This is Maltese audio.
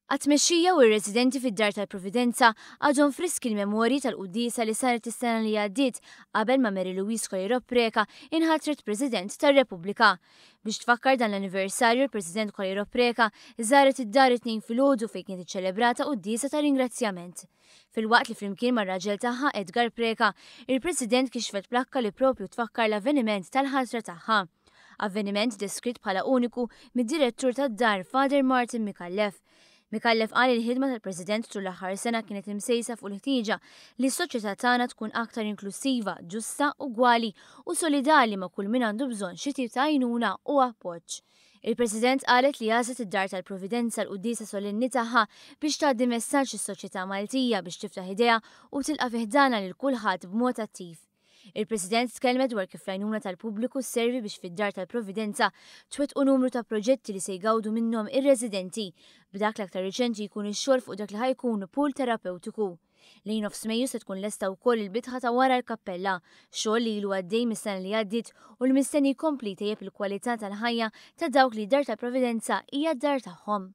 Għat-tmexxija u r-residenti fid-Dar tal-Providenza għadhom friski l-memorji tal-quddiesa li saret is-sena li għaddiet qabel ma Mary Louise Coleiro Preca inħatret President tar-Repubblika. Biex tfakkar dan l-anniversarju l-President Coleiro Preca żaret id-dar it-Tnejn filgħodu fejn kienet iċċelebrata quddiesa ta' ringrazzjament. Filwaqt li flimkien mar-raġel tagħha Edgar Preca, il-President kixfet plakka li propju tfakkar l-avveniment tal-ħatra tagħha. Avveniment deskritt bħala uniku mid-Direttur tad-Dar Father Martin Micallef. Micallef qal li l-ħidma tal-President tul l-aħħar sena kienet imsejsa fuq il-ħtieġa li s-soċjetà tagħna tkun aktar inklussiva, ġusta, ugwali u solidali ma' kull min għandu bżonn xi tip ta' għajnuna u appoġġ. Il-President qalet li għażlet id-Dar tal-Providenza l-quddiesa solenni tagħha biex tgħaddi messaġġ lis-soċjetà Maltija biex tiftaħ idejha u tilqa' fi ħdanha lil kulħadd b'mod attiv. Il-President tkellmet dwar kif l-għajnuna tal-pubbliku sservi biex fid-Dar tal-Providenza twettqu numru ta' proġetti li se jgawdu minnhom ir-residenti, b'dak l-aktar riċenti jkun ix-xogħol fuq dak li ħa jkun pool terapewtiku. Lejn nofs Mejju se tkun lesta wkoll il-bitħa ta' wara l-kappella, xogħol li ilu għaddej mis-sena li għaddiet u li mistenni jkompli jtejjeb il-kwalità tal-ħajja ta' dawk li d-Dar tal-Providenza hija d-dar tagħhom.